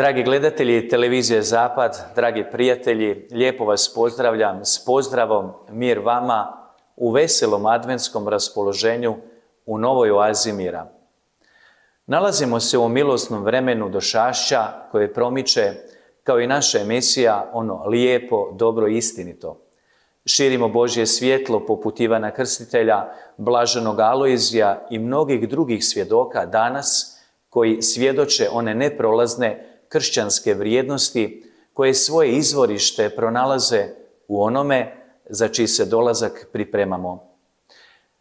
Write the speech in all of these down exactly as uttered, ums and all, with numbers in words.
Dragi gledatelji televizije Zapad, dragi prijatelji, lijepo vas pozdravljam s pozdravom mir vama u veselom adventskom raspoloženju u novoj oazi mira. Nalazimo se u milosnom vremenu došašća koje promiče, kao i naša emisija, ono lijepo, dobro i istinito. Širimo Božje svjetlo poput Ivana Krstitelja, blaženog Alojzija i mnogih drugih svjedoka danas koji svjedoče one neprolazne kršćanske vrijednosti koje svoje izvorište pronalaze u onome za čiji se dolazak pripremamo.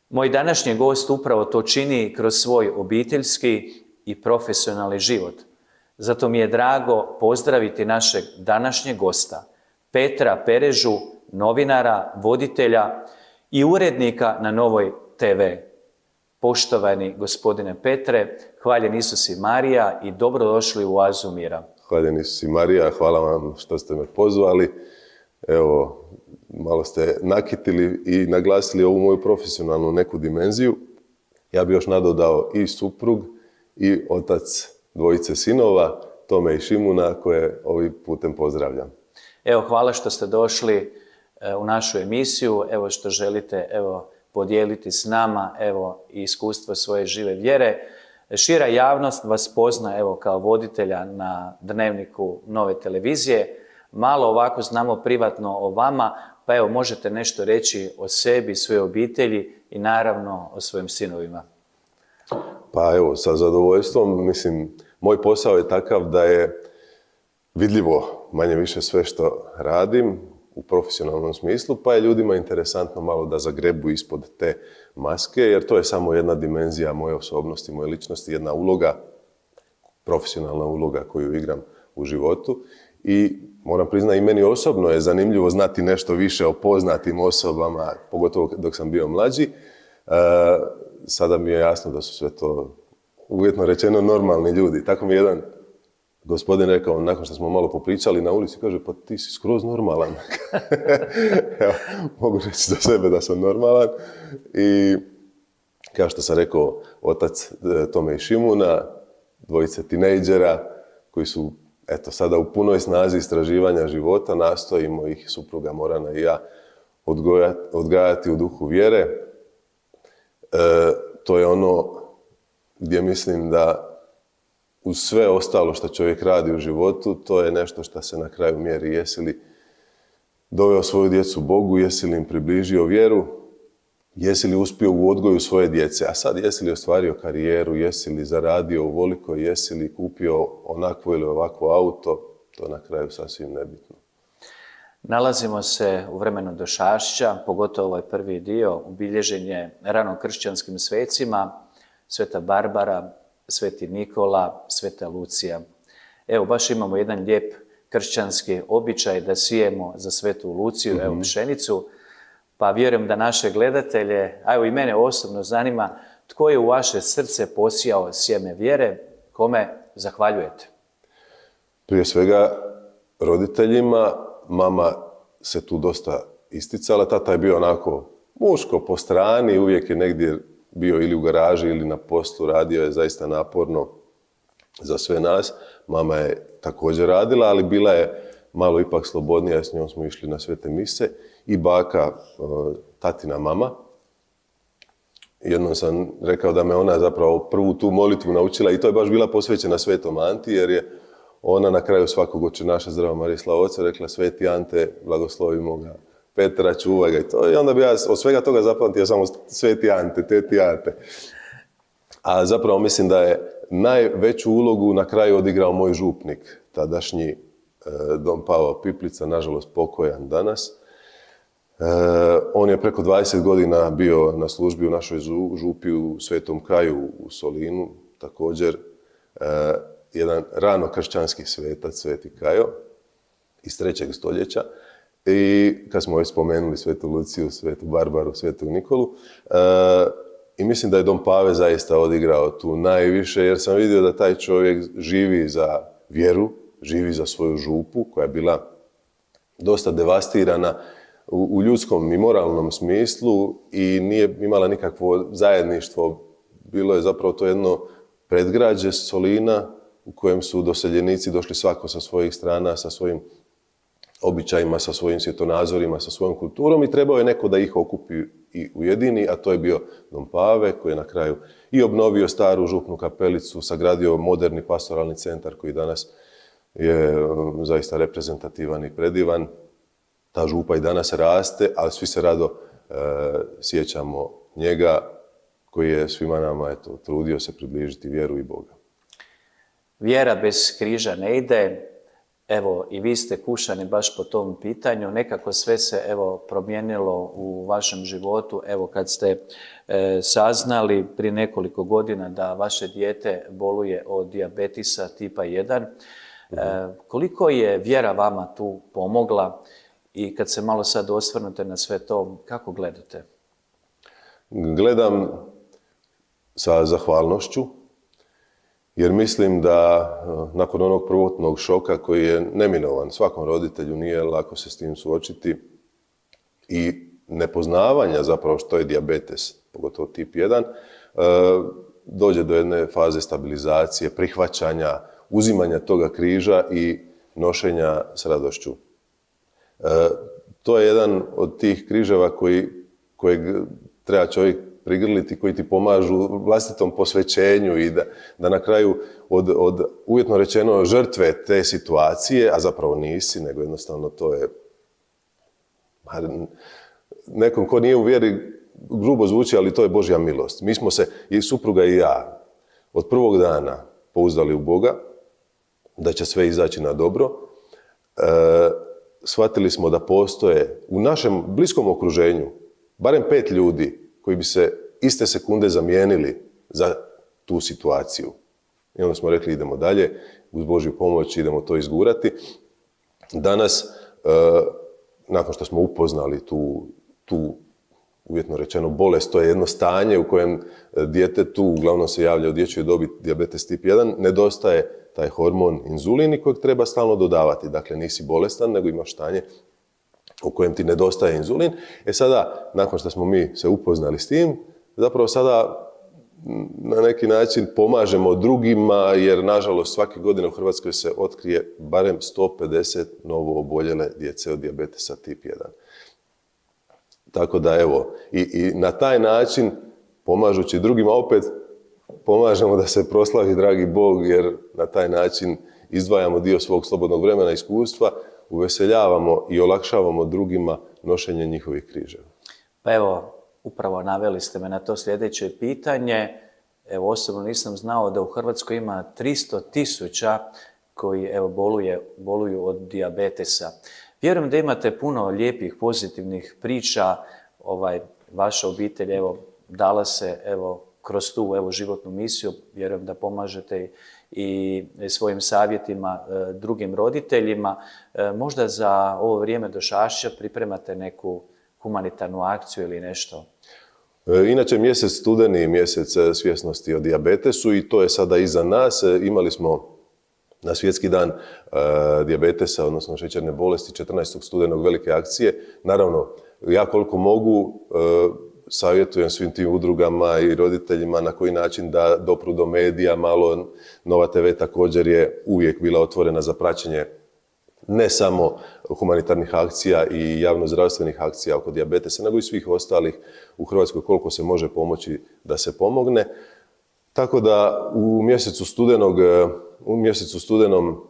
Moj današnji gost upravo to čini kroz svoj obiteljski i profesionalni život. Zato mi je drago pozdraviti našeg današnjeg gosta, Petra Perežu, novinara, voditelja i urednika na Novoj te ve. Poštovani gospodine Petre, hvaljen Isus i Marija i dobrodošli u oazu mira. Hvaljen Isus i Marija, hvala vam što ste me pozvali. Evo, malo ste nakitili i naglasili ovu moju profesionalnu neku dimenziju. Ja bih još nadodao i suprug i otac dvojice sinova, Tome i Šimuna, koje ovim putem pozdravljam. Evo, hvala što ste došli u našu emisiju, evo što želite, evo, podijeliti s nama, evo, i iskustvo svoje žive vjere. Šira javnost vas pozna, evo, kao voditelja na Dnevniku Nove televizije. Malo ovako znamo privatno o vama, pa evo, možete nešto reći o sebi, svoje obitelji i naravno o svojim sinovima. Pa evo, sa zadovoljstvom, mislim, moj posao je takav da je vidljivo manje više sve što radim u profesionalnom smislu, pa je ljudima interesantno malo da zagrebu ispod te maske, jer to je samo jedna dimenzija moje osobnosti, moje ličnosti, jedna uloga, profesionalna uloga koju igram u životu. I moram priznati, i meni osobno je zanimljivo znati nešto više o poznatim osobama, pogotovo dok sam bio mlađi. E, sada mi je jasno da su sve to, uvjetno rečeno, normalni ljudi. Tako mi je jedan gospodin rekao, nakon što smo malo popričali na ulici, kaže, pa ti si skroz normalan. Evo, mogu reći za sebe da sam normalan. I kao što sam rekao, otac Tome i Šimuna, dvojice tinejdžera koji su, eto, sada u punoj snazi istraživanja života, nastojimo ih, supruga Morana i ja, odgojati, odgajati u duhu vjere. E, to je ono gdje mislim da uz sve ostalo što čovjek radi u životu, to je nešto što se na kraju mjeri. Jesi li doveo svoju djecu Bogu, jesi li im približio vjeru, jesi li uspio u odgoju svoje djece, a sad jesi li ostvario karijeru, jesi li zaradio ovoliko, jesi li kupio onakvo ili ovakvo auto, to na kraju sasvim nebitno. Nalazimo se u vremenu došašća, pogotovo ovaj prvi dio, obilježen je rano kršćanskim svecima, Sveta Barbara, Sveti Nikola, Sveta Lucija. Evo, baš imamo jedan lijep kršćanski običaj da sijemo za Svetu Luciju, mm-hmm. evo, pšenicu, pa vjerujem da naše gledatelje, a evo i mene osobno zanima, tko je u vaše srce posijao sjeme vjere, kome zahvaljujete? Prije svega roditeljima, mama se tu dosta isticala, tata je bio onako muško po strani, uvijek je negdje bio ili u garaži ili na poslu, radio je zaista naporno za sve nas. Mama je također radila, ali bila je malo ipak slobodnija, s njom smo išli na svete mise. I baka, tatina mama. Jednom sam rekao da me ona zapravo prvu tu molitvu naučila i to je baš bila posvećena Svetom Anti, jer je ona na kraju svakog očenaša Zdrava Marija slava Oca rekla: Sveti Ante, blagoslovimo ga, Petra, čuvaj ga i to. I onda bi ja od svega toga zapamtio samo Sveti Ante, teti Ante. A zapravo mislim da je najveću ulogu na kraju odigrao moj župnik, tadašnji eh, don Pavao Piplica, nažalost pokojan danas. Eh, on je preko dvadeset godina bio na službi u našoj župi u Svetom Kaju u Solinu, također eh, jedan rano kršćanski svetac, Sveti Kajo, iz trećeg stoljeća. I kad smo već spomenuli Svetu Luciju, Svetu Barbaru, Svetu Nikolu, e, i mislim da je don Pave zaista odigrao tu najviše, jer sam vidio da taj čovjek živi za vjeru, živi za svoju župu, koja je bila dosta devastirana u, u ljudskom i moralnom smislu i nije imala nikakvo zajedništvo. Bilo je zapravo to jedno predgrađe Solina, u kojem su doseljenici došli svako sa svojih strana, sa svojim običajima, sa svojim svjetonazorima, sa svojom kulturom i trebao je neko da ih okupi i ujedini, a to je bio Don Pave koji je na kraju i obnovio staru župnu kapelicu, sagradio moderni pastoralni centar koji danas je zaista reprezentativan i predivan. Ta župa i danas raste, ali svi se rado e, sjećamo njega koji je svima nama eto, trudio se približiti vjeru i Boga. Vjera bez križa ne ide. Evo, i vi ste kušani baš po tom pitanju. Nekako sve se, evo, promijenilo u vašem životu. Evo, kad ste e, saznali prije nekoliko godina da vaše dijete boluje od dijabetisa tipa jedan, e, koliko je vjera vama tu pomogla i kad se malo sad osvrnute na sve to, kako gledate? Gledam sa zahvalnošću, jer mislim da nakon onog prvotnog šoka koji je neminovan, svakom roditelju nije lako se s tim suočiti, i nepoznavanja zapravo što je dijabetes, pogotovo tip jedan, dođe do jedne faze stabilizacije, prihvaćanja, uzimanja toga križa i nošenja s radošću. To je jedan od tih križeva koji, kojeg treba čovjek prigrliti, koji ti pomažu vlastitom posvećenju i da, da na kraju od, od uvjetno rečeno žrtve te situacije, a zapravo nisi, nego jednostavno to je nekom ko nije u vjeri, grubo zvuči, ali to je Božja milost. Mi smo se, i supruga i ja, od prvog dana pouzdali u Boga, da će sve izaći na dobro. E, shvatili smo da postoje u našem bliskom okruženju barem pet ljudi koji bi se iste sekunde zamijenili za tu situaciju. I onda smo rekli idemo dalje, uz Božju pomoć idemo to izgurati. Danas, e, nakon što smo upoznali tu, tu uvjetno rečeno bolest, to je jedno stanje u kojem djetetu, uglavnom se javlja u dječjoj dobi dijabetes tip jedan, nedostaje taj hormon inzulin kojeg treba stalno dodavati. Dakle, nisi bolestan, nego imaš stanje u kojem ti nedostaje inzulin. E sada, nakon što smo mi se upoznali s tim, zapravo sada na neki način pomažemo drugima, jer nažalost svake godine u Hrvatskoj se otkrije barem sto pedeset novo oboljele djece od dijabetesa tip jedan. Tako da evo, i, i na taj način, pomažući drugima, opet pomažemo da se proslavi dragi Bog, jer na taj način izdvajamo dio svog slobodnog vremena i iskustva, uveseljavamo i olakšavamo drugima nošenje njihovih križeva. Pa evo, upravo naveli ste me na to sljedeće pitanje. Evo, osobno nisam znao da u Hrvatskoj ima tristo tisuća koji evo, boluje, boluju od dijabetesa. Vjerujem da imate puno lijepih, pozitivnih priča. Ovaj, vaša obitelj evo, dala se evo, kroz tu evo, životnu misiju. Vjerujem da pomažete i svojim savjetima e, drugim roditeljima. E, možda za ovo vrijeme Došašća pripremate neku humanitarnu akciju ili nešto? E, inače, mjesec studeni je mjesec svjesnosti o dijabetesu i to je sada iza nas. E, imali smo na Svjetski dan e, dijabetesa, odnosno šećerne bolesti, četrnaestog studenog velike akcije. Naravno, ja koliko mogu, e, savjetujem svim tim udrugama i roditeljima na koji način da dopru do medija malo. Nova te ve također je uvijek bila otvorena za praćenje ne samo humanitarnih akcija i javnozdravstvenih akcija oko dijabetesa, nego i svih ostalih u Hrvatskoj koliko se može pomoći da se pomogne. Tako da u mjesecu studenog, u mjesecu studenom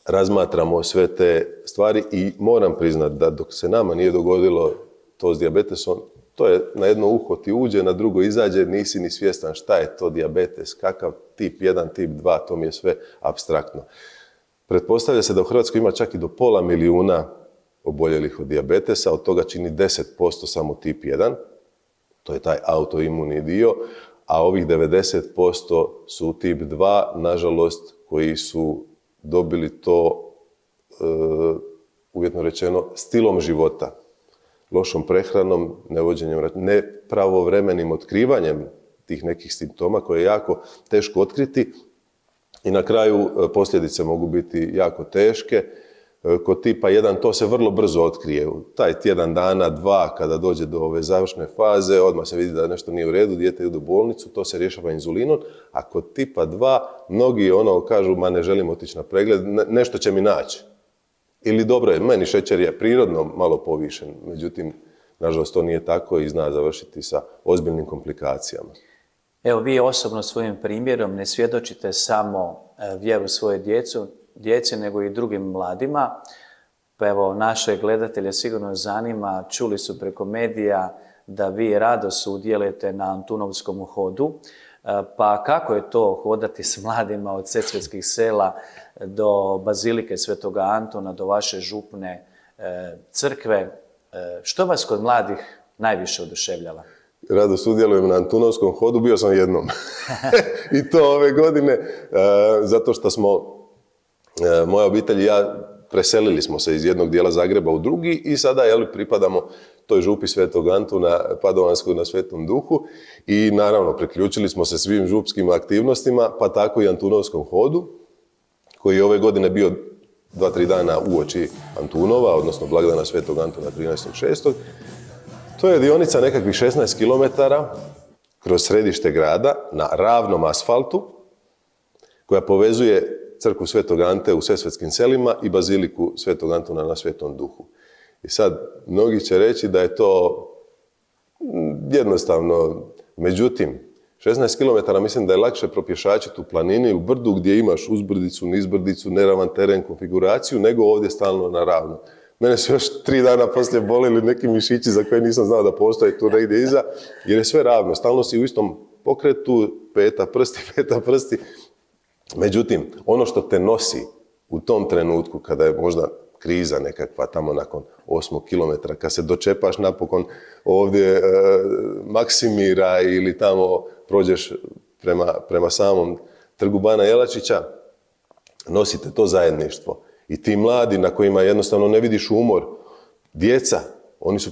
razmatramo sve te stvari i moram priznati da dok se nama nije dogodilo to s dijabetesom, to je na jedno uho ti uđe, na drugo izađe, nisi ni svjestan šta je to dijabetes, kakav tip jedan, tip dva, to mi je sve apstraktno. Pretpostavlja se da u Hrvatskoj ima čak i do pola milijuna oboljelih od dijabetesa, od toga čini deset posto samo tip jedan, to je taj autoimuni dio, a ovih devedeset posto su tip dva, nažalost, koji su dobili to, e, uvjetno rečeno, stilom života. Lošom prehranom, nevođenjem, nepravovremenim otkrivanjem tih nekih simptoma koje je jako teško otkriti i na kraju posljedice mogu biti jako teške. kod tipa jedan, to se vrlo brzo otkrije. Taj tjedan dana, dva, kada dođe do ove završne faze, odmah se vidi da nešto nije u redu, dijete ide u bolnicu, to se rješava inzulinom, a kod tipa dva, mnogi ono kažu, ma ne želim otići na pregled, nešto će mi naći. Ili dobro je, meni šećer je prirodno malo povišen, međutim, nažalost, to nije tako i zna završiti sa ozbiljnim komplikacijama. Evo, vi osobno svojim primjerom ne svjedočite samo vjeru svoje djecu, djece, nego i drugim mladima. Pa evo, naše gledatelje sigurno zanima, čuli su preko medija da vi rado sudjelujete na Antunovskom hodu. Pa kako je to hodati s mladima od Sesvetskih sela do Bazilike Svetoga Antuna, do vaše župne crkve? Što vas kod mladih najviše oduševljava? Rado sudjelujem na Antunovskom hodu, bio sam jednom. I to ove godine, zato što smo, moja obitelj i ja, preselili smo se iz jednog dijela Zagreba u drugi i sada jel, pripadamo toj župi Svetog Antuna Padovanskog na Svetom Duhu i naravno priključili smo se svim župskim aktivnostima, pa tako i Antunovskom hodu, koji je ove godine bio dva, tri dana uoči Antunova, odnosno blagdana Svetog Antuna trinaestog šestog To je dionica nekakvih šesnaest kilometara kroz središte grada na ravnom asfaltu koja povezuje crkvu Svetog Ante u Sesvetskim selima i baziliku Svetog Antuna na Svetom Duhu. I sad, mnogi će reći da je to jednostavno, međutim, šesnaest kilometara mislim da je lakše propješačiti u planini, u brdu gdje imaš uzbrdicu, nizbrdicu, neravan teren, konfiguraciju, nego ovdje stalno na ravno. Mene su još tri dana poslije bolili neki mišići za koje nisam znao da postoje tu negdje iza, jer je sve ravno. Stalno si u istom pokretu, peta prsti, peta prsti. Međutim, ono što te nosi u tom trenutku, kada je možda kriza nekakva tamo nakon osmog kilometra, kad se dočepaš napokon ovdje e, Maksimira ili tamo prođeš prema, prema samom trgu Bana Jelačića, nosite to zajedništvo. I ti mladi na kojima jednostavno ne vidiš umor, djeca, oni su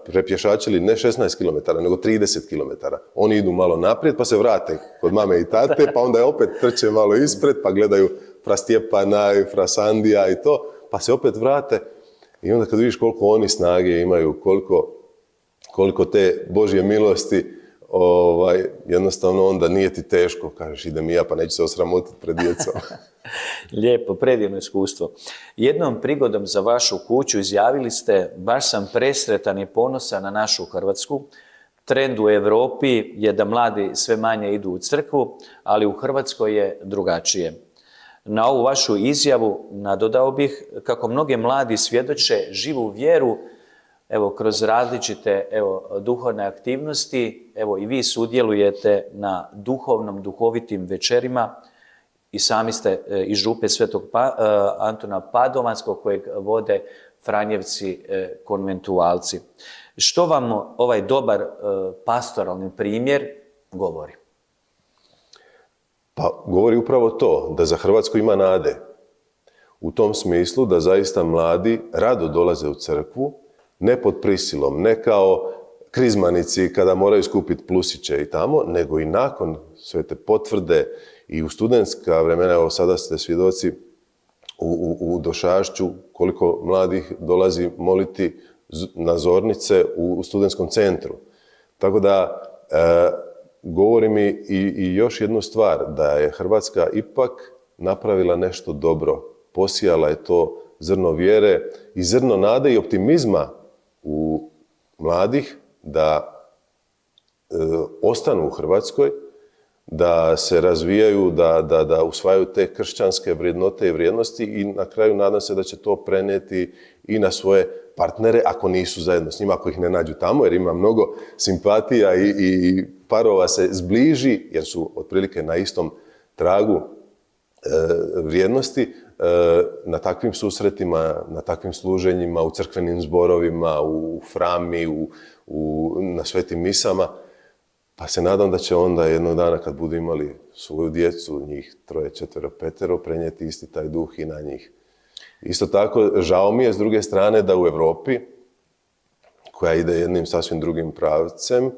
prepješačili ne šesnaest kilometara, nego trideset kilometara. Oni idu malo naprijed, pa se vrate kod mame i tate, pa onda je opet trče malo ispred, pa gledaju fra Stjepana i fra Sandija i to, pa se opet vrate. I onda kad vidiš koliko oni snage imaju, koliko, koliko te Božje milosti, ovaj, jednostavno onda nije ti teško, kažeš idem i ja, pa neću se osramotiti pred djecom. Lijepo, predivno iskustvo. Jednom prigodom za vašu kuću izjavili ste, baš sam presretan i ponosan na našu Hrvatsku. Trend u Europi je da mladi sve manje idu u crkvu, ali u Hrvatskoj je drugačije. Na ovu vašu izjavu nadodao bih kako mnoge mladi svjedoče živu vjeru, evo, kroz različite evo, duhovne aktivnosti, evo i vi sudjelujete na duhovnom, duhovitim večerima i sami ste e, iz župe Svetog pa, e, Antuna Padovanskog kojeg vode Franjevci e, konventualci. Što vam ovaj dobar e, pastoralni primjer govori? Pa govori upravo to, da za Hrvatsku ima nade. U tom smislu da zaista mladi rado dolaze u crkvu, ne pod prisilom, ne kao krizmanici kada moraju skupiti plusiće i tamo, nego i nakon sve te potvrde i u studentska vremena, evo sada ste svjedoci u, u, u Došašću koliko mladih dolazi moliti na zornice u, u studentskom centru. Tako da e, govori mi i, i još jednu stvar, da je Hrvatska ipak napravila nešto dobro, posijala je to zrno vjere i zrno nade i optimizma u mladih da e, ostanu u Hrvatskoj, da se razvijaju, da, da, da usvajaju te kršćanske vrijednote i vrijednosti i na kraju nadam se da će to prenijeti i na svoje partnere, ako nisu zajedno s njima, ako ih ne nađu tamo, jer ima mnogo simpatija i, i parova se zbliži, jer su otprilike na istom tragu e, vrijednosti, na takvim susretima, na takvim služenjima, u crkvenim zborovima, u frami, u, u, na svetim misama. Pa se nadam da će onda jednog dana kad budu imali svoju djecu, njih troje, četvero, petero, prenijeti isti taj duh i na njih. Isto tako, žao mi je s druge strane da u Europi, koja ide jednim sasvim drugim pravcem,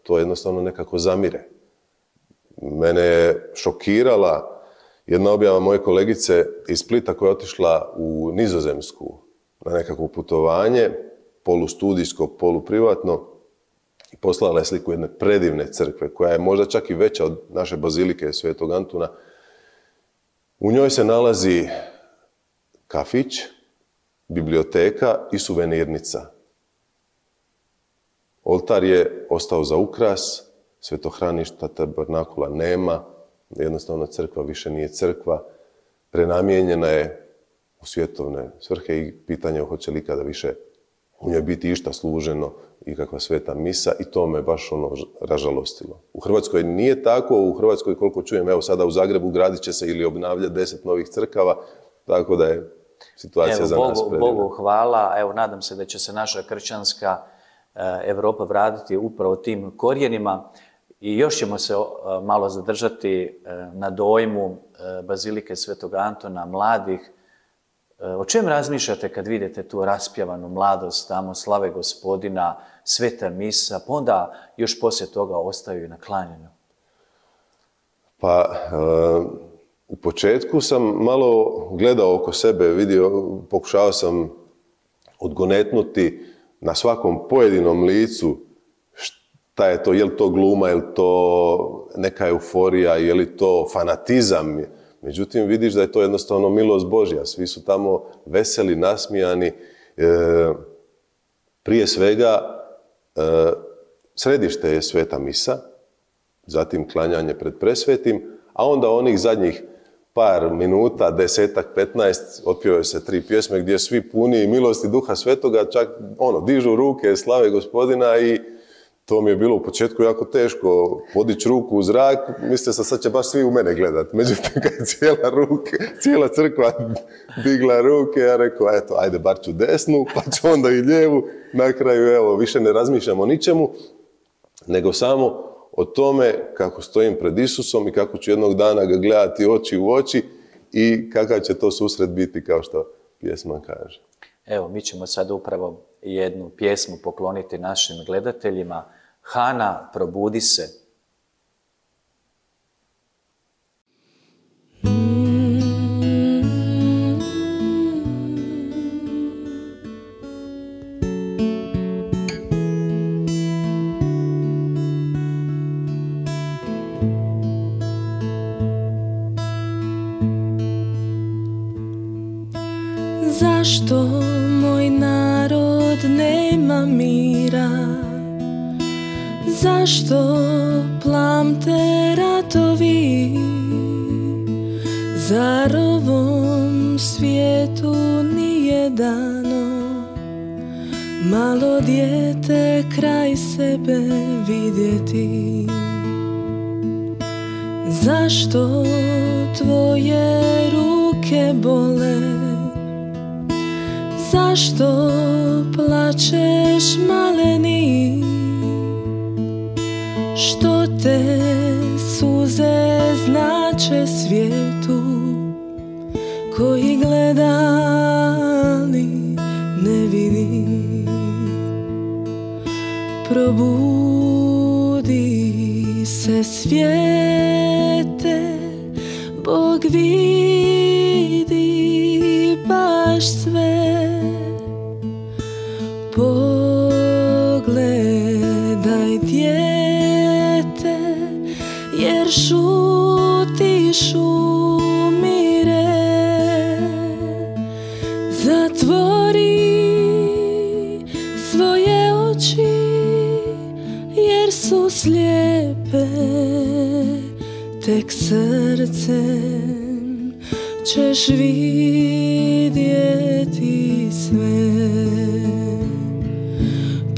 to jednostavno nekako zamire. Mene je šokirala Jedna objava moje kolegice iz Splita koja je otišla u Nizozemsku na nekakvo putovanje, polustudijsko, poluprivatno, i poslala je sliku jedne predivne crkve, koja je možda čak i veća od naše bazilike Svetog Antuna. U njoj se nalazi kafić, biblioteka i suvenirnica. Oltar je ostao za ukras, svetohraništa, tabernakula nema, jednostavno crkva više nije crkva, prenamijenjena je u svjetovne svrhe i pitanje je hoće li ikada više u njoj biti išta služeno i kakva sveta misa, i to me baš ono ražalostilo. U Hrvatskoj nije tako, u Hrvatskoj koliko čujem, evo sada u Zagrebu gradit će se ili obnavljati deset novih crkava, tako da je situacija evo, za Bogu, nas predivna. Bogu hvala, evo nadam se da će se naša kršćanska Evropa vratiti upravo tim korijenima i još ćemo se malo zadržati na dojmu Bazilike Svetog Antona, mladih. O čem razmišljate kad vidite tu raspjevanu mladost, tamo slave Gospodina, sveta misa, pa onda još poslije toga ostaju i na klanjanju? Pa, u početku sam malo gledao oko sebe, vidio, pokušao sam odgonetnuti na svakom pojedinom licu šta je to, je li to gluma, je li to neka euforija, je li to fanatizam. Međutim, vidiš da je to jednostavno milost Božja. Svi su tamo veseli, nasmijani. E, prije svega, e, središte je sveta misa, zatim klanjanje pred presvetim, a onda onih zadnjih par minuta, desetak, petnaest, otpjevaju se tri pjesme gdje svi puni milosti Duha Svetoga, čak ono, dižu ruke, slave Gospodina, i to mi je bilo u početku jako teško podići ruku u zrak, mislio sam sad će baš svi u mene gledat. Međutim, kad je cijela, ruke, cijela crkva digla ruke, ja rekao, eto, ajde, bar ću desnu, pa ću onda i lijevu. Na kraju, evo, više ne razmišljam o ničemu, nego samo o tome kako stojim pred Isusom i kako ću jednog dana ga gledati oči u oči i kakav će to susret biti, kao što pjesma kaže. Evo, mi ćemo sad upravo jednu pjesmu pokloniti našim gledateljima. Hana, probudi se. Zašto moj narod nema mira? Zašto plamte ratovi? Zar ovom svijetu nije dano malo dijete kraj sebe vidjeti? Zašto tvoje ruke bole? Zašto plačeš maleni? Što te suze znače svijetu koji gleda ali ne vidi? Probudi se svijete, Bog vidi baš sve. Pogledaj dijete, jer šutiš umire. Zatvori svoje oči, jer su slijepe. Tek srcem ćeš vidjeti sve.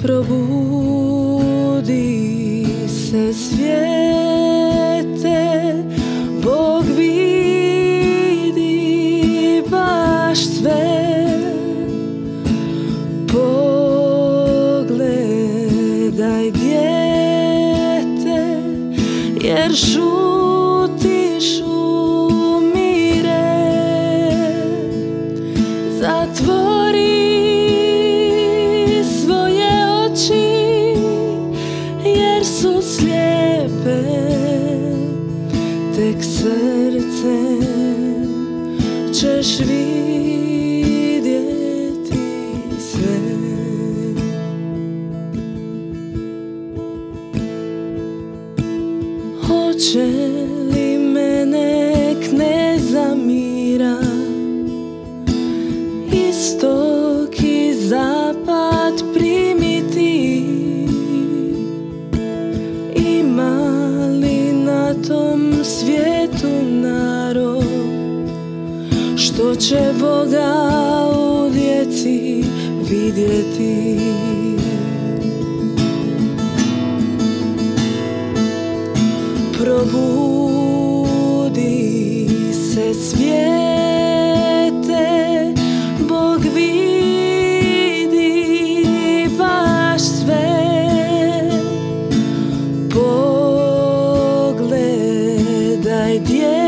Probudi se svijete, Bog vidi baš sve. Pogledaj dijete, jer šutiš umire. Zatvori su slijepe, tek srce ćeš vidjeti sve. Hoće li me nek ne zamira, istok i zapad primiti? Ima li na tom svijetu narod što će Boga u djeci vidjeti? Probudi se svijete, Bog vidi baš sve. Pogledaj dijete,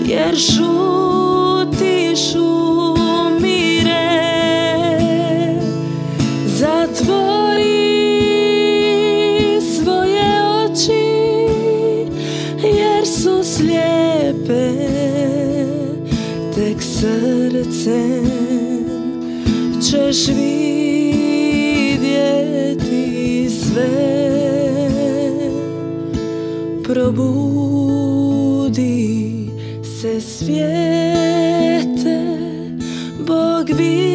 jer šutiš umire. Zatvori svoje oči, jer su slijepe, tek srcem ćeš vidjeti sve. Probudi se svijete, Bog vidi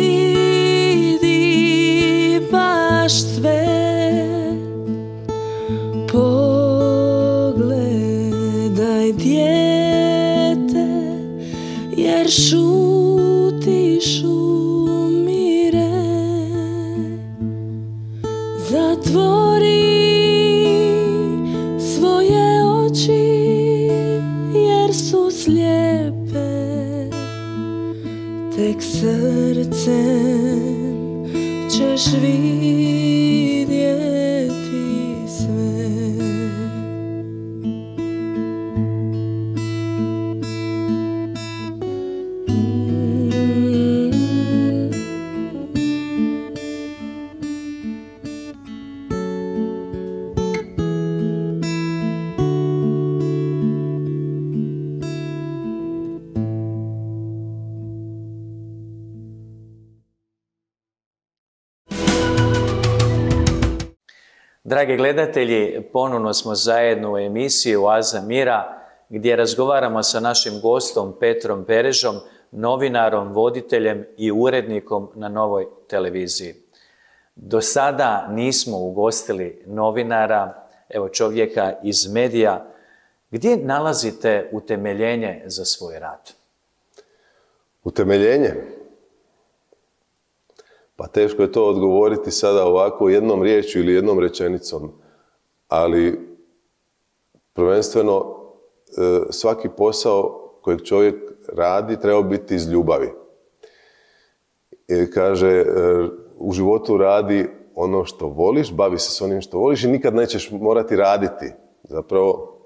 baš sve. Pogledaj dijete, jer šutiš umire. Zatvori svoje oči, jer su slijepe, tek srcem ćeš vidjeti sve. Dragi gledatelji, ponovno smo zajedno u emisiji Oaza mira, gdje razgovaramo sa našim gostom Petrom Perežom, novinarom, voditeljem i urednikom na Novoj televiziji. Do sada nismo ugostili novinara, evo čovjeka iz medija. Gdje nalazite utemeljenje za svoj rad? Utemeljenje? Pa teško je to odgovoriti sada ovako jednom riječju ili jednom rečenicom, ali prvenstveno svaki posao kojeg čovjek radi treba biti iz ljubavi. I kaže, u životu radi ono što voliš, bavi se s onim što voliš i nikad nećeš morati raditi. Zapravo,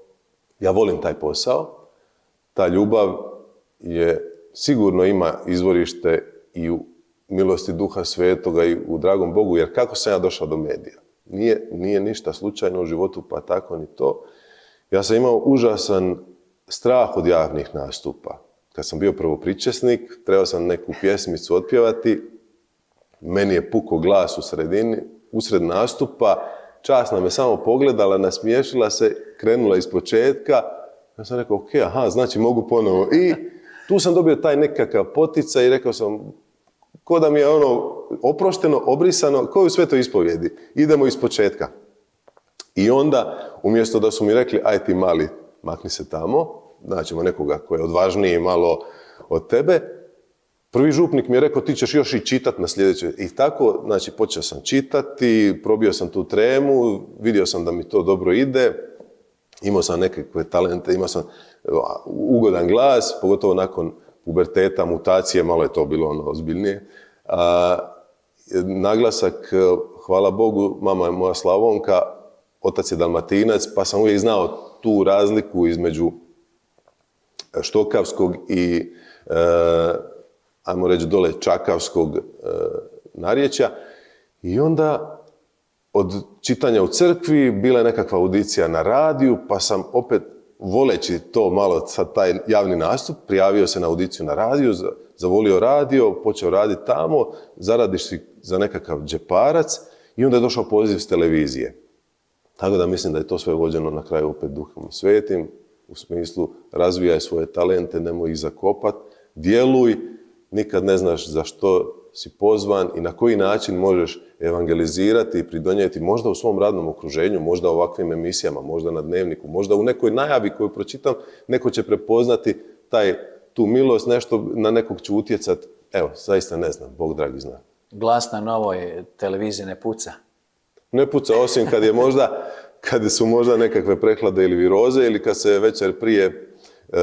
ja volim taj posao, ta ljubav je, sigurno ima izvorište i u milosti Duha Svetoga i u dragom Bogu, jer kako sam ja došao do medija? Nije, nije ništa slučajno u životu, pa tako ni to. Ja sam imao užasan strah od javnih nastupa. Kad sam bio prvopričesnik, trebao sam neku pjesmicu otpjevati, meni je pukao glas u sredini, usred nastupa, časna me samo pogledala, nasmiješila se, krenula iz početka, ja sam rekao, ok, aha, znači mogu ponovo. I tu sam dobio taj nekakav poticaj i rekao sam, ko da mi je ono oprošteno, obrisano, ko u svetoj ispovjedi. Idemo iz početka. I onda, umjesto da su mi rekli, aj ti mali, makni se tamo, naćemo nekoga koji je odvažniji malo od tebe, prvi župnik mi je rekao, ti ćeš još i čitati na sljedeće. I tako, znači, počeo sam čitati, probio sam tu tremu, vidio sam da mi to dobro ide, imao sam nekakve talente, imao sam ugodan glas, pogotovo nakon puberteta, mutacije, malo je to bilo ono ozbiljnije. A, naglasak, hvala Bogu, mama je moja Slavonka, otac je Dalmatinac, pa sam uvijek znao tu razliku između štokavskog i, e, ajmo reći, dole čakavskog e, narječja. I onda od čitanja u crkvi bila je nekakva audicija na radiju, pa sam opet voleći to malo, sad taj javni nastup, prijavio se na audiciju na radiju, zavolio radio, počeo raditi tamo, zaradiš si za nekakav džeparac i onda je došao poziv s televizije. Tako da mislim da je to sve vođeno na kraju opet Duhom Svetim, u smislu razvijaj svoje talente, nemoj ih zakopat, djeluj, nikad ne znaš za što si pozvan i na koji način možeš evangelizirati i pridonijeti možda u svom radnom okruženju, možda u ovakvim emisijama, možda na dnevniku, možda u nekoj najavi koju pročitam, neko će prepoznati taj, tu milost, nešto na nekog ću utjecati. Evo, zaista ne znam, Bog dragi zna. Glas na Novoj televiziji ne puca? Ne puca, osim kad je možda, kad su možda nekakve prehlade ili viroze ili kad se večer prije e,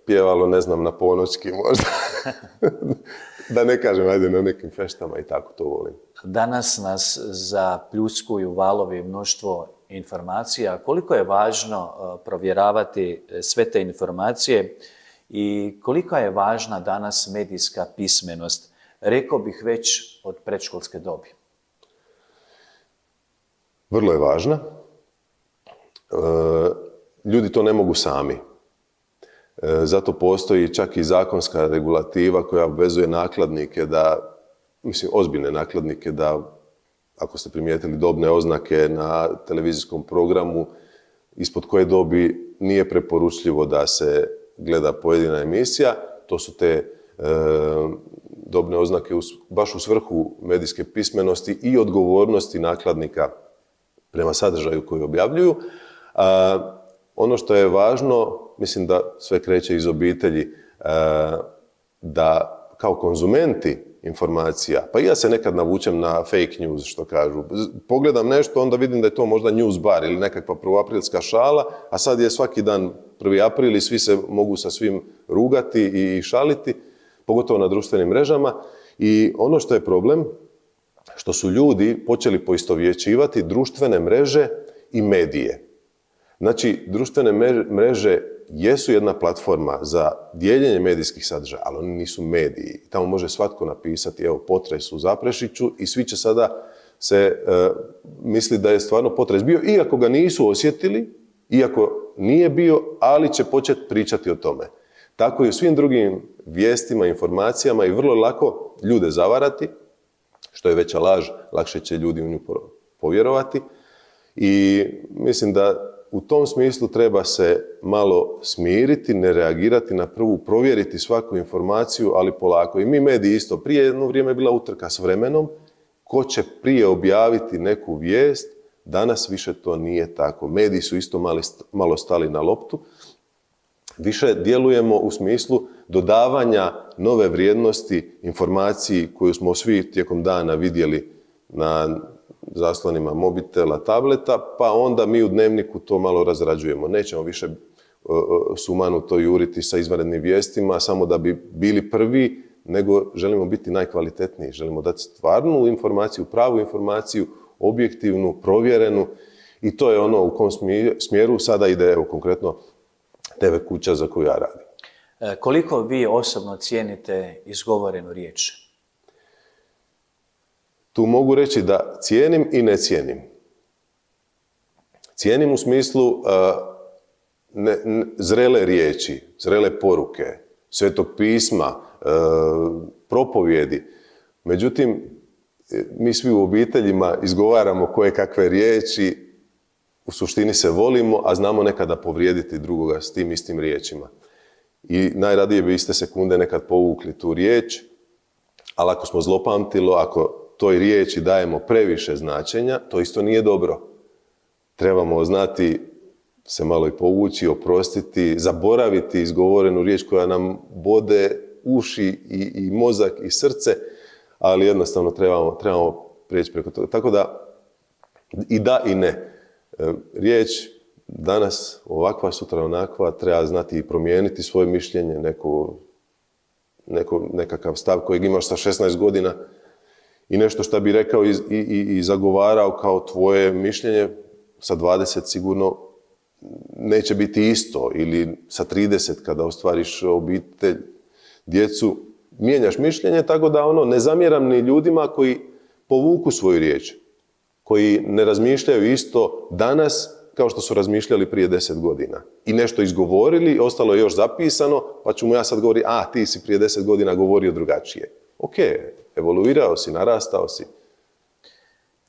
pjevalo, ne znam, na ponoćki možda. Da ne kažem, ajde, na nekim feštama i tako to volim. Danas nas zapljuskuju valovi mnoštvo informacija. Koliko je važno provjeravati sve te informacije i kolika je važna danas medijska pismenost, rekao bih već od predškolske dobi? Vrlo je važna. Ljudi to ne mogu sami. Zato postoji čak i zakonska regulativa koja obvezuje nakladnike da, mislim, ozbiljne nakladnike da, ako ste primijetili, dobne oznake na televizijskom programu ispod koje dobi nije preporučljivo da se gleda pojedina emisija. To su te e, dobne oznake u, baš u svrhu medijske pismenosti i odgovornosti nakladnika prema sadržaju koji objavljuju. A, ono što je važno, mislim da sve kreće iz obitelji, da kao konzumenti informacija, pa i ja se nekad navučem na fake news, što kažu. Pogledam nešto, onda vidim da je to možda news bar ili nekakva prvoaprilska šala, a sad je svaki dan prvi april i svi se mogu sa svim rugati i šaliti, pogotovo na društvenim mrežama. I ono što je problem, što su ljudi počeli poistovjećivati društvene mreže i medije. Znači, društvene mreže jesu jedna platforma za dijeljenje medijskih sadržaja, ali oni nisu mediji. Tamo može svatko napisati, evo, potres u Zaprešiću i svi će sada se e, misli da je stvarno potres bio, iako ga nisu osjetili, iako nije bio, ali će početi pričati o tome. Tako i u svim drugim vijestima, informacijama i vrlo lako ljude zavarati, što je veća laž, lakše će ljudi u nju povjerovati. I mislim da u tom smislu treba se malo smiriti, ne reagirati na prvu, provjeriti svaku informaciju, ali polako. I mi mediji isto. Prije jedno vrijeme je bila utrka s vremenom. Ko će prije objaviti neku vijest, danas više to nije tako. Mediji su isto mali, malo stali na loptu. Više djelujemo u smislu dodavanja nove vrijednosti informaciji koju smo svi tijekom dana vidjeli na zaslonima mobitela, tableta, pa onda mi u dnevniku to malo razrađujemo. Nećemo više sumanuto juriti sa izvanrednim vijestima, samo da bi bili prvi, nego želimo biti najkvalitetniji. Želimo dati stvarnu informaciju, pravu informaciju, objektivnu, provjerenu i to je ono u kom smjeru sada ide, evo, konkretno te ve kuća za koju ja radim. Koliko vi osobno cijenite izgovorenu riječ? Tu mogu reći da cijenim i ne cijenim. Cijenim u smislu uh, ne, ne, zrele riječi, zrele poruke, Svetog pisma, uh, propovjedi. Međutim, mi svi u obiteljima izgovaramo koje kakve riječi, u suštini se volimo, a znamo nekada povrijediti drugoga s tim istim riječima. I najradije bi iste sekunde nekad povukli tu riječ, ali ako smo zlopamtilo, ako toj riječi dajemo previše značenja, to isto nije dobro. Trebamo znati se malo i povući, oprostiti, zaboraviti izgovorenu riječ koja nam bode uši i, i mozak i srce, ali jednostavno trebamo, trebamo prijeći preko toga. Tako da i da i ne. Riječ danas ovakva, sutra onakva, treba znati i promijeniti svoje mišljenje, neko, neko, nekakav stav kojeg imaš sa šesnaest godina, i nešto što bi rekao i, i, i zagovarao kao tvoje mišljenje sa dvadeset sigurno neće biti isto, ili sa trideset kada ostvariš obitelj, djecu, mijenjaš mišljenje, tako da ono, ne zamjeram ni ljudima koji povuku svoju riječ, koji ne razmišljaju isto danas kao što su razmišljali prije deset godina. I nešto izgovorili, ostalo je još zapisano, pa ću mu ja sad govoriti, a ti si prije deset godina govorio drugačije. Ok, evoluirao si, narastao si.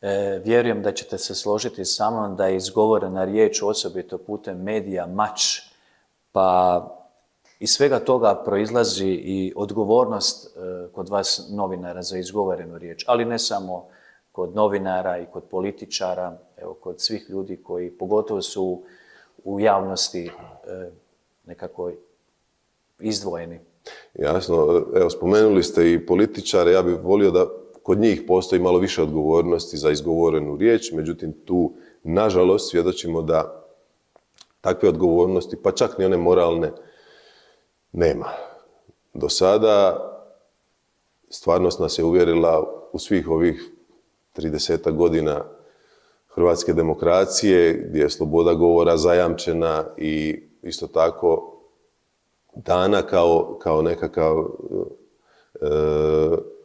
E, vjerujem da ćete se složiti sa mnom da je izgovorena riječ, osobito putem medija, mač, pa iz svega toga proizlazi i odgovornost e, kod vas novinara za izgovorenu riječ, ali ne samo kod novinara i kod političara, evo, kod svih ljudi koji pogotovo su u javnosti e, nekako izdvojeni. Jasno, evo, spomenuli ste i političare, ja bih volio da kod njih postoji malo više odgovornosti za izgovorenu riječ, međutim tu, nažalost, svjedočimo da takve odgovornosti, pa čak ni one moralne, nema. Do sada stvarnost nas je uvjerila u svih ovih tridesetak godina hrvatske demokracije, gdje je sloboda govora zajamčena i isto tako dana kao, kao nekakav e,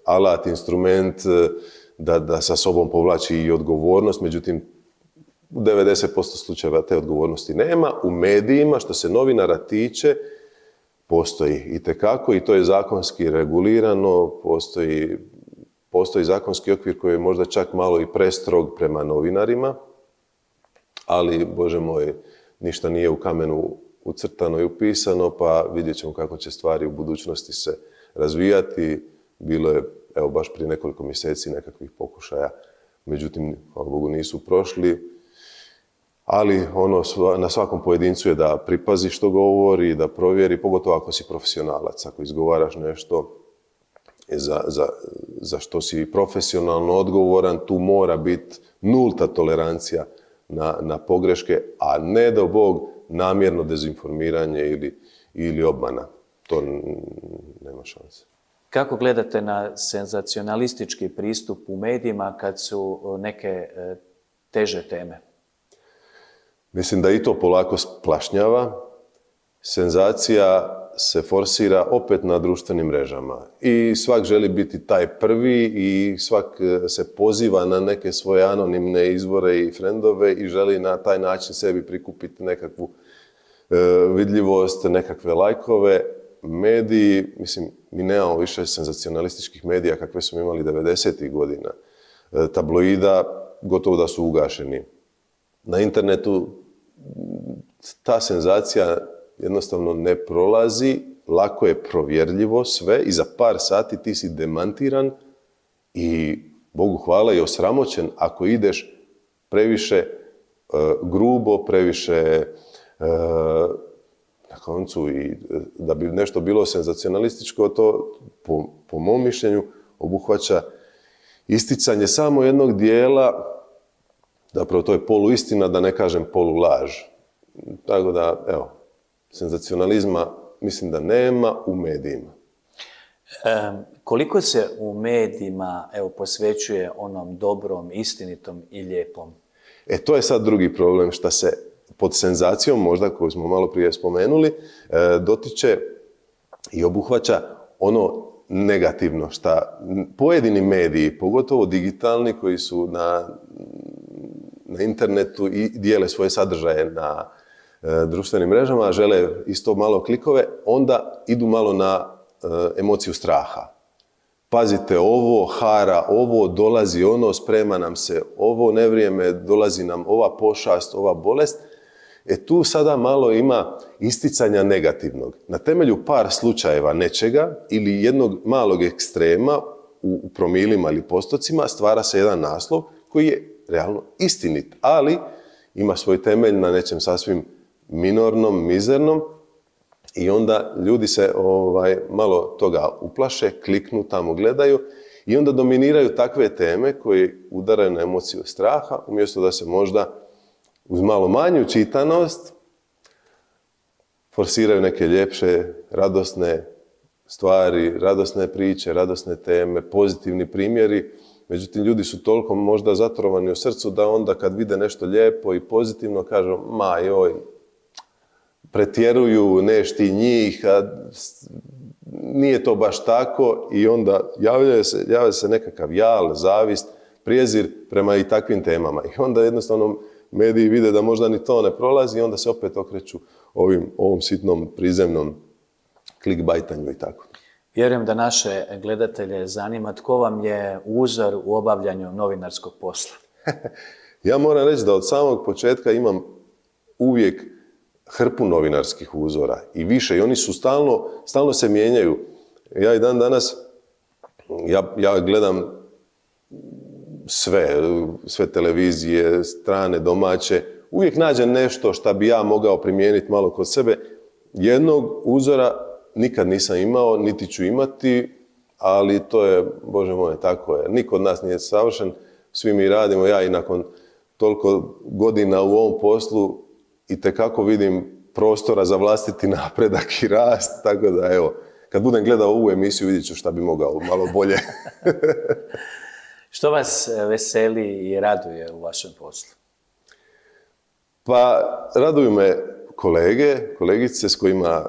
alat, instrument da, da sa sobom povlači i odgovornost, međutim u devedeset posto slučajeva te odgovornosti nema. U medijima, što se novinara tiče, postoji itekako i to je zakonski regulirano, postoji, postoji zakonski okvir koji je možda čak malo i prestrog prema novinarima, ali, Bože moj, ništa nije u kamenu ucrtano i upisano, pa vidjet ćemo kako će stvari u budućnosti se razvijati. Bilo je, evo, baš prije nekoliko mjeseci nekakvih pokušaja, međutim, hvala Bogu, nisu prošli. Ali ono, na svakom pojedincu je da pripazi što govori, da provjeri, pogotovo ako si profesionalac, ako izgovaraš nešto za, za, za što si profesionalno odgovoran, tu mora biti nulta tolerancija na, na pogreške, a ne do Bog namjerno dezinformiranje ili, ili obmana. To nema šanse. Kako gledate na senzacionalistički pristup u medijima kad su neke teže teme? Mislim da i to polako splašnjava. Senzacija se forsira opet na društvenim mrežama. I svak želi biti taj prvi i svak se poziva na neke svoje anonimne izvore i frendove i želi na taj način sebi prikupiti nekakvu e, vidljivost, nekakve lajkove. Mediji, mislim, mi nemamo više senzacionalističkih medija kakve smo imali devedesetih godina. E, tabloida gotovo da su ugašeni. Na internetu ta senzacija jednostavno ne prolazi, lako je provjerljivo sve i za par sati ti si demantiran i, Bogu hvala, i osramoćen ako ideš previše uh, grubo, previše uh, na koncu i da bi nešto bilo senzacionalističko, to po, po mom mišljenju obuhvaća isticanje samo jednog dijela. Zapravo to je poluistina, da ne kažem polulaž. Tako da, evo, senzacionalizma mislim da nema u medijima. E, koliko se u medijima, evo, posvećuje onom dobrom, istinitom i lijepom? E, to je sad drugi problem, što se pod senzacijom, možda koju smo malo prije spomenuli, e, dotiče i obuhvaća ono negativno, što pojedini mediji, pogotovo digitalni, koji su na na internetu i dijele svoje sadržaje na e, društvenim mrežama, žele isto malo klikove, onda idu malo na e, emociju straha. Pazite ovo, hara ovo, dolazi ono, sprema nam se ovo nevrijeme, dolazi nam ova pošast, ova bolest. E tu sada malo ima isticanja negativnog. Na temelju par slučajeva nečega ili jednog malog ekstrema u, u promilima ili postocima stvara se jedan naslov koji je realno istinit, ali ima svoj temelj na nečem sasvim minornom, mizernom i onda ljudi se ovaj, malo toga uplaše, kliknu, tamo gledaju i onda dominiraju takve teme koje udaraju na emociju straha, umjesto da se možda uz malo manju čitanost forsiraju neke ljepše, radosne stvari, radosne priče, radosne teme, pozitivni primjeri. Međutim, ljudi su toliko možda zatrovani u srcu da onda kad vide nešto lijepo i pozitivno kažu, ma joj, pretjeruju, neš ti njih, a nije to baš tako i onda javlja se, javlja se nekakav jal, zavist, prijezir prema i takvim temama. I onda jednostavno mediji vide da možda ni to ne prolazi i onda se opet okreću ovim, ovom sitnom prizemnom klikbajtanju i tako. Vjerujem da naše gledatelje zanima tko vam je uzor u obavljanju novinarskog posla. Ja moram reći da od samog početka imam uvijek hrpu novinarskih uzora i više i oni su stalno, stalno se mijenjaju. Ja i dan danas, ja, ja gledam sve, sve televizije, strane, domaće, uvijek nađem nešto što bi ja mogao primijeniti malo kod sebe. Jednog uzora nikad nisam imao, niti ću imati, ali to je, Bože moj, tako je. Niko od nas nije savršen, svi mi radimo, ja i nakon toliko godina u ovom poslu itekako vidim prostora za vlastiti napredak i rast, tako da evo, kad budem gledao ovu emisiju vidjet ću šta bi mogao malo bolje. Što vas veseli i raduje u vašem poslu? Pa, raduju me kolege, kolegice s kojima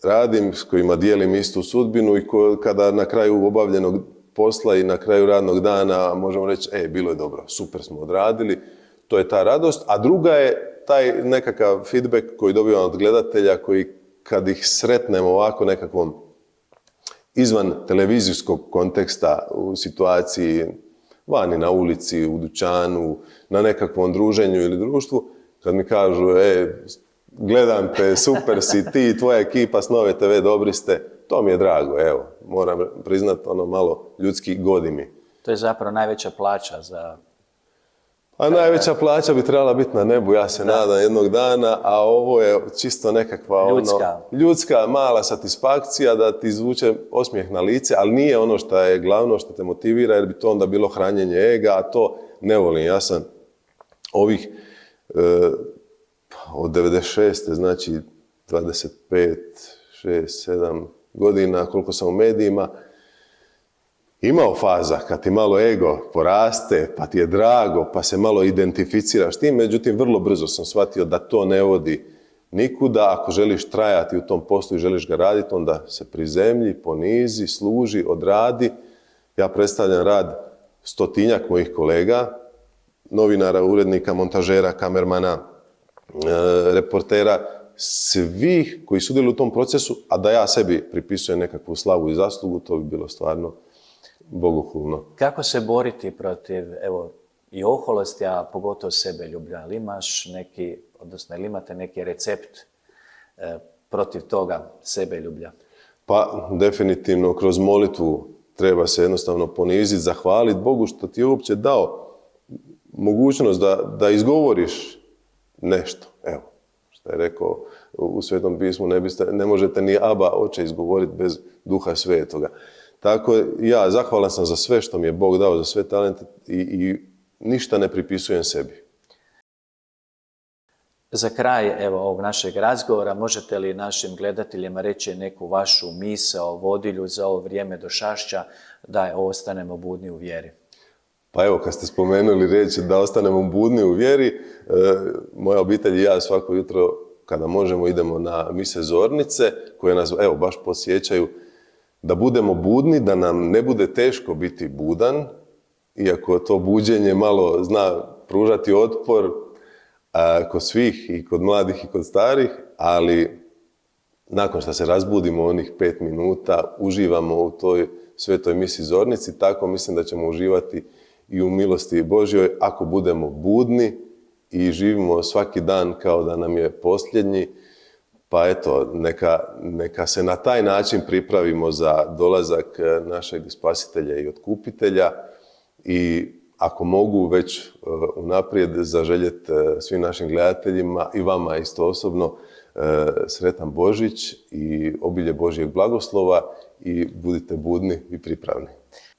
radim, s kojima dijelim istu sudbinu i ko, kada na kraju obavljenog posla i na kraju radnog dana možemo reći, e, bilo je dobro, super smo odradili, to je ta radost. A druga je taj nekakav feedback koji dobivam od gledatelja, koji kad ih sretnemo ovako nekakvom izvan televizijskog konteksta u situaciji vani na ulici, u dućanu, na nekakvom druženju ili društvu, kad mi kažu, e, gledam te, super si ti, tvoja ekipa s Nove te ve, dobri ste, to mi je drago, evo, moram priznat, ono malo ljudski godi mi. To je zapravo najveća plaća za... A najveća plaća bi trebala biti na nebu, ja se da. nadam jednog dana, a ovo je čisto nekakva ljudska. Ono, ljudska mala satisfakcija da ti izvuče osmijeh na lice, ali nije ono što je glavno, što te motivira, jer bi to onda bilo hranjenje ega, a to ne volim. Ja sam ovih e, od devedeset šeste znači dvadeset pet, šest, sedam godina, koliko sam u medijima, imao faza kad ti malo ego poraste, pa ti je drago, pa se malo identificiraš tim, međutim vrlo brzo sam shvatio da to ne vodi nikuda. Ako želiš trajati u tom poslu i želiš ga raditi, onda se prizemlji, ponizi, služi, odradi. Ja predstavljam rad stotinjak mojih kolega, novinara, urednika, montažera, kamermana, e, reportera, svih koji sudjeluju u tom procesu, a da ja sebi pripisujem nekakvu slavu i zaslugu, to bi bilo stvarno bogohulno. Kako se boriti protiv, evo, i oholosti, a pogotovo sebeljublja? Ali imaš neki, odnosno ili imate neki recept e, protiv toga sebeljublja? Pa, definitivno, kroz molitvu treba se jednostavno poniziti, zahvaliti Bogu što ti je uopće dao mogućnost da, da izgovoriš nešto. Evo, što je rekao u Svetom pismu, ne, biste, ne možete ni Aba, Oče, izgovoriti bez Duha Svetoga. Tako ja zahvalan sam za sve što mi je Bog dao, za sve talente i, i ništa ne pripisujem sebi. Za kraj evo, ovog našeg razgovora, možete li našim gledateljima reći neku vašu misao, vodilju za ovo vrijeme došašća, da ostanemo budni u vjeri? Pa evo, kad ste spomenuli reći da ostanemo budni u vjeri, e, moja obitelj i ja svako jutro, kada možemo, idemo na mise zornice, koje nas, evo, baš podsjećaju da budemo budni, da nam ne bude teško biti budan, iako to buđenje malo zna pružati otpor a, kod svih, i kod mladih i kod starih, ali nakon što se razbudimo onih pet minuta, uživamo u toj svetoj misi zornici, tako mislim da ćemo uživati i u milosti Božjoj ako budemo budni i živimo svaki dan kao da nam je posljednji. Pa eto, neka, neka se na taj način pripravimo za dolazak našeg spasitelja i otkupitelja i ako mogu već unaprijed zaželjeti svim našim gledateljima i vama isto osobno sretan Božić i obilje Božjeg blagoslova i budite budni i pripravni.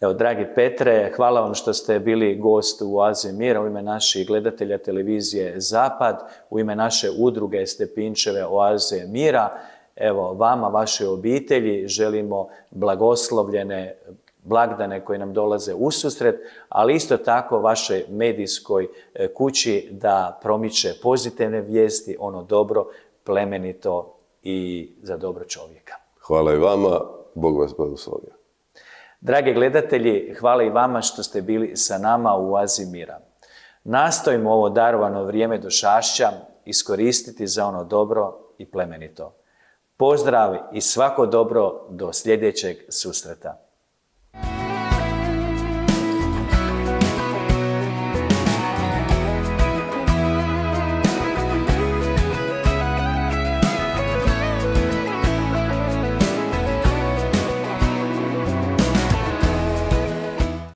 Evo, dragi Petre, hvala vam što ste bili gost u Oazi mira u ime naših gledatelja televizije Zapad, u ime naše udruge Stepinčeve Oaze mira. Evo, vama, vašoj obitelji želimo blagoslovljene blagdane koje nam dolaze ususret, ali isto tako vašoj medijskoj kući da promiče pozitivne vijesti, ono dobro, plemenito i za dobro čovjeka. Hvala i vama, Bog vas blagoslovio. Dragi gledatelji, hvala i vama što ste bili sa nama u Oazi mira. Nastojimo ovo darovano vrijeme došašća iskoristiti za ono dobro i plemenito. Pozdrav i svako dobro do sljedećeg susreta.